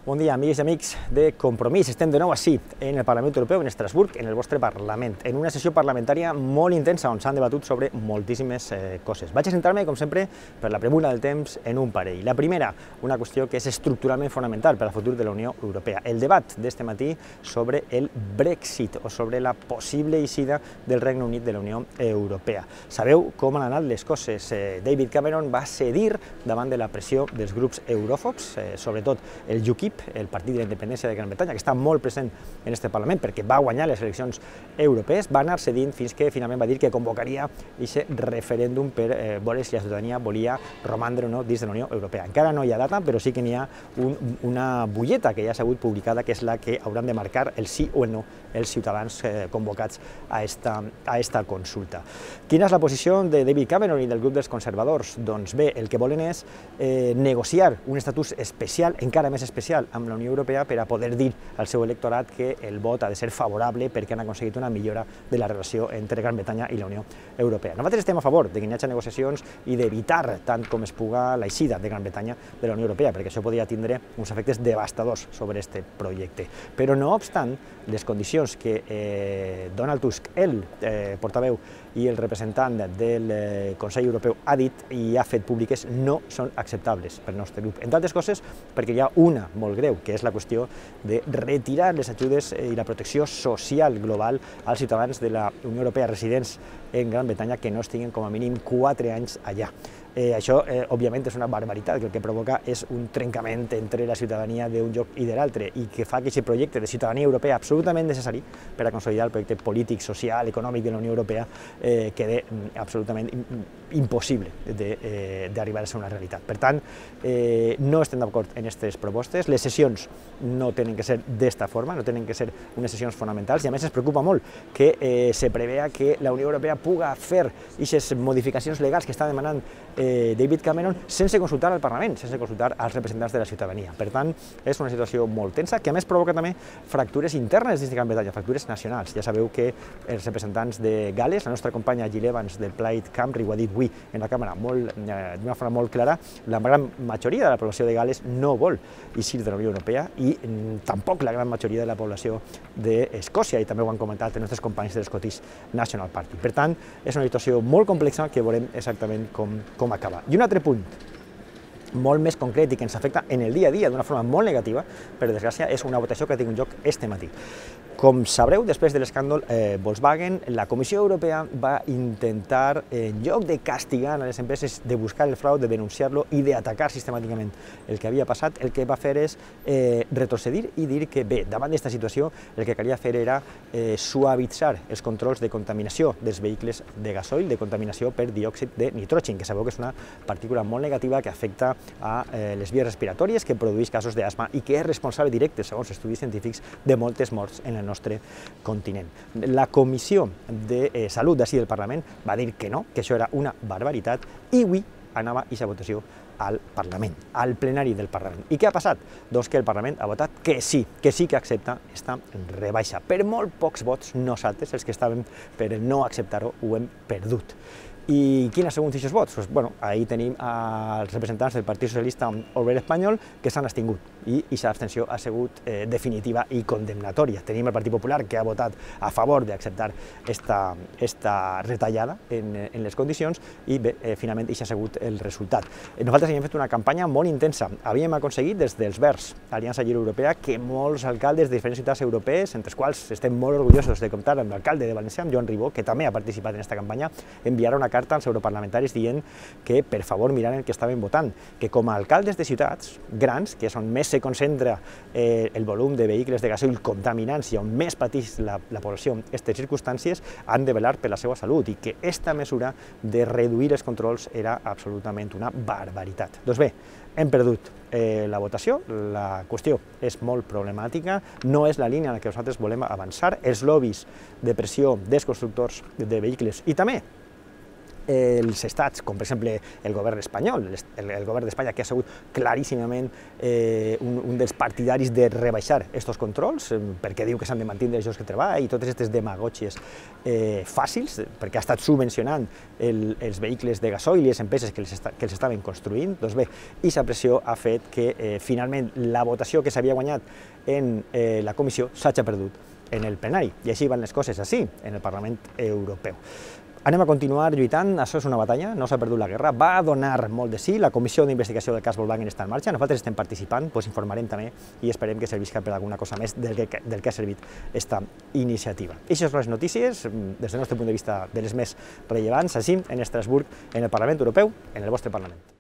Bon dia, amigues i amics de Compromís. Estem de nou així, en el Parlament Europeu, en Estrasburg, en el vostre Parlament, en una sessió parlamentària molt intensa on s'han debatut sobre moltíssimes coses. Vaig a centrar-me, com sempre, per la premura del temps, en un parell. La primera, una qüestió que és estructuralment fonamental per al futur de la Unió Europea. El debat d'este matí sobre el Brexit o sobre la possible eixida del Regne Unit de la Unió Europea. Sabeu com han anat les coses. David Cameron va cedir davant de la pressió dels grups euròfobs, sobretot el UKIP, el Partit de la Independència de Gran Bretanya, que està molt present en aquest Parlament perquè va guanyar les eleccions europees, va anar cedint fins que finalment va dir que convocaria aquest referèndum per veure si la ciutadania volia romandre o no dins de la Unió Europea. Encara no hi ha data, però sí que n'hi ha una butlleta que ja s'ha hagut publicada, que és la que hauran de marcar el sí o el no els ciutadans convocats a esta consulta. Quina és la posició de David Cameron i del grup dels conservadors? Doncs bé, el que volen és negociar un estatus especial, encara més especial, amb la Unió Europea per a poder dir al seu electorat que el vot ha de ser favorable perquè han aconseguit una millora de la relació entre Gran Bretanya i la Unió Europea. Nosaltres estem a favor de que hi hagi negociacions i d'evitar tant com es puga l'eixida de Gran Bretanya de la Unió Europea, perquè això podria tindre uns efectes devastadors sobre aquest projecte. Però no obstant, les condicions que Donald Tusk, el portaveu i el representant del Consell Europeu, ha dit i ha fet públiques no són acceptables pel nostre grup. Entre altres coses, perquè hi ha una molt greu, que és la qüestió de retirar les ajudes i la protecció social global als ciutadans de la Unió Europea residents en Gran Bretanya que no estiguin com a mínim 4 anys allà. Això, òbviament, és una barbaritat, que el que provoca és un trencament entre la ciutadania d'un lloc i de l'altre i que fa que aquest projecte de ciutadania europea absolutament necessari per a consolidar el projecte polític, social, econòmic de la Unió Europea quede absolutament impossible d'arribar a ser una realitat. Per tant, no estem d'acord en aquestes propostes. Les sessions no tenen que ser d'esta forma, no tenen que ser unes sessions fonamentals i a més ens preocupa molt que se prevea que la Unió Europea puga fer aquestes modificacions legals que està demanant David Cameron sense consultar al Parlament, sense consultar als representants de la ciutadania. Per tant, és una situació molt tensa que a més provoca també fractures internes dins de Gran Bretanya, fractures nacionals. Ja sabeu que els representants de Gal·les, la nostra companya Jill Evans del Plaid Cymru ho ha dit avui en la càmera d'una forma molt clara, la gran majoria de la població de Gal·les no vol eixir de la Unió Europea i tampoc la gran majoria de la població d'Escòcia, i també ho han comentat els nostres companys de l'Scottish National Party. Per tant, és una situació molt complexa que veurem exactament com acaba. I un altre punt molt més concret i que ens afecta en el dia a dia d'una forma molt negativa, per desgràcia, és una votació que ha tingut lloc este matí. Com sabreu, després de l'escàndol Volkswagen, la Comissió Europea va intentar, en lloc de castigar a les empreses, de buscar el frau, de denunciar-lo i d'atacar sistemàticament el que havia passat, el que va fer és retrocedir i dir que, bé, davant d'aquesta situació, el que calia fer era suavitzar els controls de contaminació dels vehicles de gasoil, de contaminació per diòxid de nitrogen, que sabeu que és una partícula molt negativa que afecta a les vies respiratòries, que produeix casos d'asma i que és responsable directe, segons estudis científics, de moltes morts en el nostre continent. La Comissió de Salut d'ací del Parlament va dir que no, que això era una barbaritat, i avui anava aquesta votació al Parlament, al plenari del Parlament. I què ha passat? Doncs que el Parlament ha votat que sí que accepta aquesta rebaixa. Per molt pocs vots, nosaltres, els que estàvem per no acceptar-ho, ho hem perdut. I quins han sigut aquests vots? Doncs, ahir tenim els representants del Partit Socialista Obrer Espanyol que s'han abstingut i aquesta abstenció ha sigut definitiva i condemnatòria. Tenim el Partit Popular que ha votat a favor d'acceptar esta retallada en les condicions i bé, finalment això ha sigut el resultat. Nosaltres havíem fet una campanya molt intensa. Havíem aconseguit des dels Verds, Aliança Lliure Europea, que molts alcaldes de diferents ciutats europees, entre els quals estem molt orgullosos de comptar amb l'alcalde de València, amb Joan Ribó, que també ha participat en aquesta campanya, enviarà una carta als europarlamentaris dient que per favor miraren que estaven votant, que com a alcaldes de ciutats grans, que és on més se concentra el volum de vehicles de gasoil contaminants i on més pateix la població en aquestes circumstàncies, han de velar per la seva salut i que aquesta mesura de reduir els controls era absolutament una barbaritat. Doncs bé, hem perdut la votació, la qüestió és molt problemàtica, no és la línia en la que nosaltres volem avançar, els lobbies de pressió dels constructors de vehicles i també els estats, com per exemple el govern espanyol, el govern d'Espanya, que ha sigut claríssimament un dels partidaris de rebaixar aquests controls, perquè diu que s'han de mantenir els llocs de treball i totes aquestes demagògies fàcils, perquè ha estat subvencionant els vehicles de gasoil i les empreses que els estaven construint. Doncs bé, aquesta pressió ha fet que finalment la votació que s'havia guanyat en la comissió s'hagi perdut en el plenari, i així van les coses així, en el Parlament Europeu. Anem a continuar lluitant, això és una batalla, no s'ha perdut la guerra, va donar molt de sí, la comissió d'investigació del cas Volkswagen està en marxa, nosaltres estem participant, doncs informarem també i esperem que servisca per alguna cosa més del que ha servit aquesta iniciativa. Aquestes són les notícies, des del nostre punt de vista, de les més rellevants, així en Estrasburg, en el Parlament Europeu, en el vostre Parlament.